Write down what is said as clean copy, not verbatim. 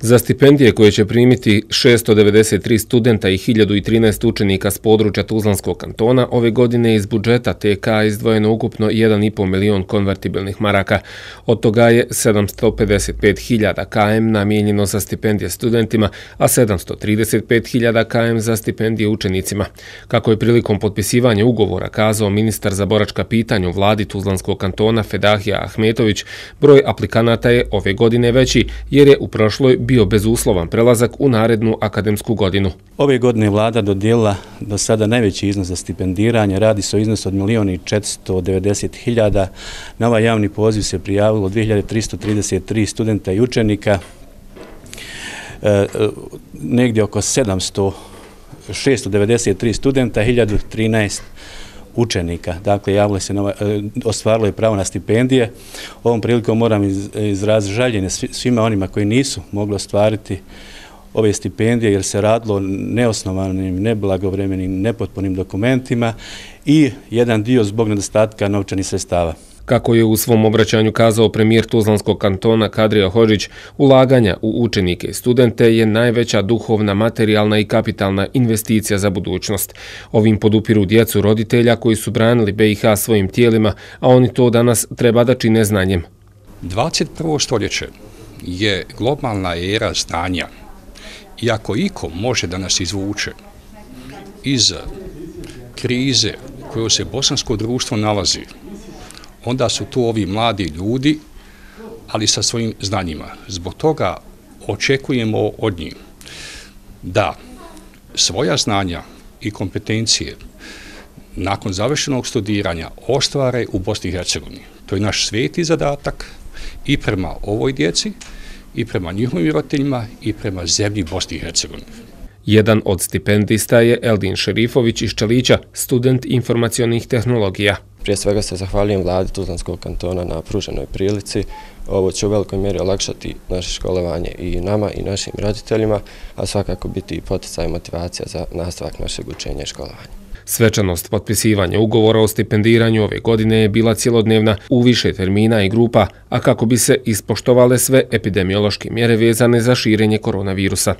Za stipendije koje će primiti 693 studenta i 1013 učenika s područja Tuzlanskog kantona, ove godine iz budžeta TK izdvojeno ukupno 1,5 milion konvertibilnih maraka. Od toga je 755.000 km namijenjeno za stipendije studentima, a 735.000 km za stipendije učenicima. Kako je prilikom potpisivanja ugovora kazao ministar za boračka pitanja u vladi Tuzlanskog kantona Fedahija Ahmetović, broj aplikanata je ove godine veći jer je u prošloj bio bezuslovan prelazak u narednu akademsku godinu. Ove godine vlada dodijelila do sada najveći iznos za stipendiranje, radi se o iznosu od 1.490.000. Na ovaj javni poziv se prijavilo 2333 studenta i učenika, negdje oko 693 studenta, 1013 učenika. Dakle, ostvarilo je pravo na stipendije. Ovom prilikom moram izraziti žaljenje svima onima koji nisu mogli ostvariti ove stipendije jer se radilo o neosnovanim, neblagovremenim, nepotpunim dokumentima i jedan dio zbog nedostatka novčanih sredstava. Kako je u svom obraćanju kazao premijer Tuzlanskog kantona Kadrija Hodžić, ulaganja u učenike i studente je najveća duhovna, materijalna i kapitalna investicija za budućnost. Ovim podupiru djecu roditelja koji su branili BiH svojim tijelima, a oni to danas treba da čine znanjem. 21. stoljeće je globalna era znanja. I ako iko može da nas izvuče iz krize u kojoj se bosansko društvo nalazi, onda su tu ovi mladi ljudi, ali sa svojim znanjima. Zbog toga očekujemo od njih da svoja znanja i kompetencije nakon završenog studiranja ostvare u Bosni i Hercegovini. To je naš sveti zadatak i prema ovoj djeci, i prema njihovim roditeljima, i prema zemlji Bosni i Hercegovini. Jedan od stipendista je Eldin Šerifović iz Čelića, student informacionih tehnologija. Prije svega se zahvaljujem vladi Tuzlanskog kantona na pruženoj prilici. Ovo će u velikoj mjeri olakšati naše školovanje i nama i našim roditeljima, a svakako biti i poticaj i motivacija za nastavak našeg učenja i školovanja. Svečanost potpisivanja ugovora o stipendiranju ove godine je bila cjelodnevna u više termina i grupa, a kako bi se ispoštovale sve epidemiološke mjere vezane za širenje koronavirusa.